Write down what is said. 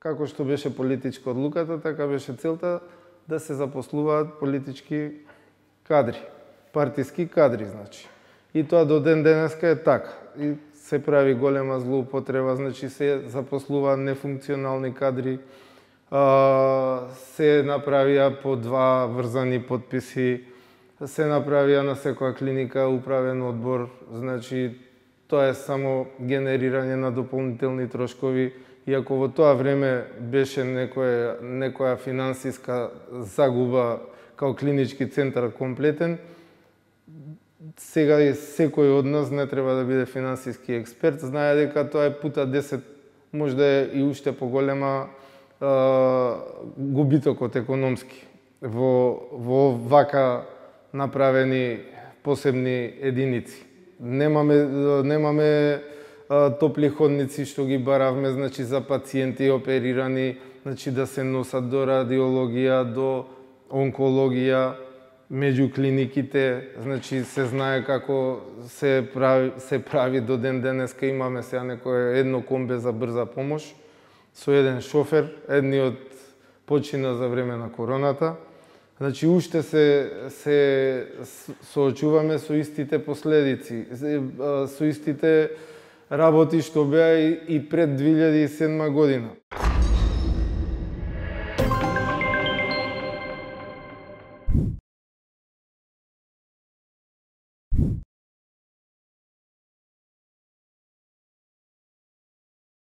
како што беше политичка одлуката, така беше целта да се запослуваат политички кадри, партиски кадри, значи. И тоа до ден денеска е така. И се прави голема злоупотреба, значи се запослуваат нефункционални кадри, се направија по 2 врзани подписи, се направија на секоја клиника управен одбор, значи тоа е само генерирање на дополнителни трошкови, иако во тоа време беше некоја финансиска загуба као клинички центар комплетен. Сега секој од нас не треба да биде финансиски експерт, знае дека тоа е пута 10, можда е и уште поголема губитокот економски во вака направени посебни единици. Немаме топли ходници што ги баравме, значи за пациенти оперирани, значи да се носат до радиологија, до онкологија, меѓу клиниките, значи се знае како се прави до ден денеска. Имаме сега едно комбе за брза помош со еден шофер, едниот почина за време на короната. Значи уште се соочуваме со истите последици, со истите работи што беа и пред 2007 година.